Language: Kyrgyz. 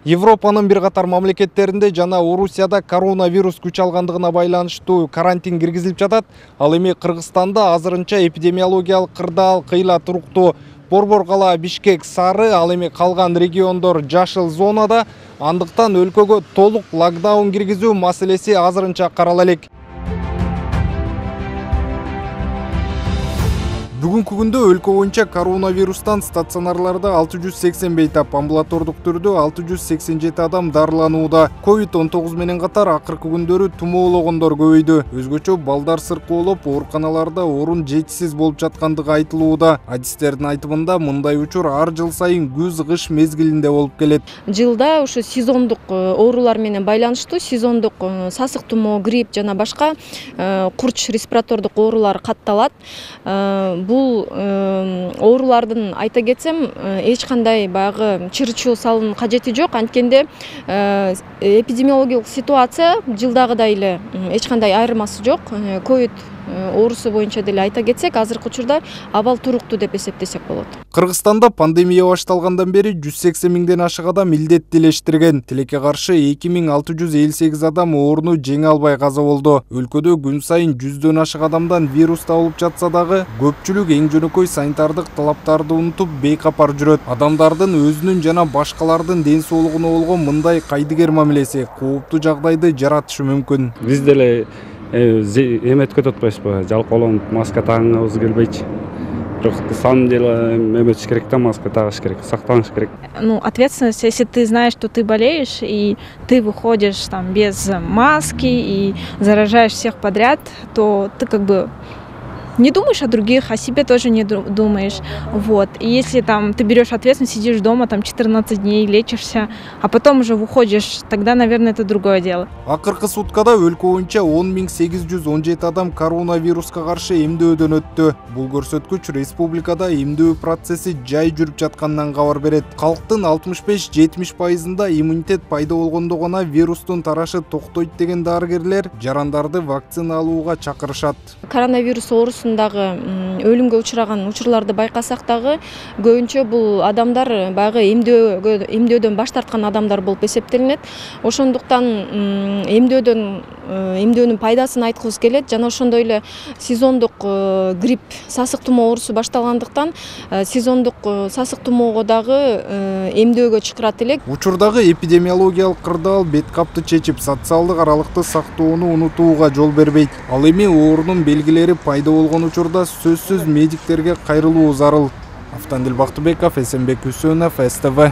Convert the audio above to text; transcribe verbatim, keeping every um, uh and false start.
Европанын бир катар мамлекеттеринде жана Орусияда коронавирус күч алгандыгына байланыштуу карантин киргизилип жатат. Ал эми Кыргызстанда азырынча эпидемиологиялык кырдаал кыйла туруктуу. Борбор кала Бишкек сары, ал эми калган региондор жашыл зонада. Андыктан өлкөгө толук локдаун киргизүү маселеси азырынча карала элек. Бүгүнкү күндө өлкө боюнча коронавирустан стационарларда алты жүз сексен бейтап, амбулатордук түрдө алты жүз сексен жети адам дарыланууда. ковид он тогуз менен катар акыркы күндөрү тумоологондор көбөйдү. Өзгөчө балдар сыркоолоп, ооруканаларда орун жетишсиз болуп жаткандыгы айтылууда. Адистердин айтымында мындай учур ар жыл сайын күз-кыш мезгилинде болуп келет. Жылда ушу сезондук оорулар менен байланыштуу сезондук сасык тумоо, грипп жана башка курч респиратордук оорулар катталат. Бул оорулардын айта кетсем эч кандай баягы чыр-чуу салуунун кажети жок. Анткенде эпидемиологиялык ситуация жылдагыдай эле эч кандай айырмасы жок. ковид оорусу боюнча деле айта кетсек, азыркы учурда абал туруктуу деп эсептесек болот. Кыргызстанда пандемия башталгандан бери жүз сексен миңден ашык адам илдеттелештирген. Тилекке каршы эки миң алты жүз элүү сегиз адам ооруну жеңе албай каза болду. Өлкөдө күн сайын жүздөн ашык адамдан вирус табылып жатса дагы, көпчүлүк эң жөнөкөй санитардык талаптарды унутуп бейкапар жүрөт. Адамдардын өзүнүн жана башкалардын ден соолугуна болгон мындай кайдыгер мамилеси кооптуу жагдайды жаратышы мүмкүн. Биз деле эметип атпайбызбы, жалкоолонуп маска тагынабыз келбейчи. Бирок на самом деле эметиш керек да, маска тагыш керек, сактаныш керек. Ну, ответственность, если ты знаешь, что ты болеешь, и ты выходишь там без маски и заражаешь всех подряд, то ты как бы не думаешь о других, о себе тоже не думаешь. Вот. И если там ты берешь ответственность, сидишь дома там четырнадцать дней, лечишься, а потом уже выходишь, тогда, наверное, это другое дело. Акыркы суткада өлкө боюнча он миң сегиз жүз он жети адам коронавируска каршы эмдөөдөн өттү. Бул көрсөткүч республикада эмдөө процесси жай жүрүп жатканынан кабар берет. Калктын алтымыш беш жетимиш пайызында иммунитет пайда болгондо гана вирустун тарашы токтойт деген дарыгерлер жарандарды вакцина алууга чакырышат. Коронавирус оорусундагы өлүмгө учураган учурларды байкасак дагы, көбүнчө бул адамдар баягы эмдөөгө эмдөөдөн баш тарткан адамдар болуп эсептелинет. Ошондуктан эмдөөдөн эмдөөнүн пайдасын айткыбыз келет. Жана ошондой эле сезондук грипп, сасык тумоо оорусу башталгандыктан сезондук сасык тумоого дагы эмдөөгө чакырат элек. Учурдагы эпидемиологиялык кырдаал бет капты чечип, социалдык аралыкты сактоону унутууга жол бербейт. Ал эми оорунун белгилери пайда болгон учурда сөзсүз медиктерге кайрылуу зарыл. Автандил Бактыбеков, Эсенбек Үсөнов, эс тэ вэ.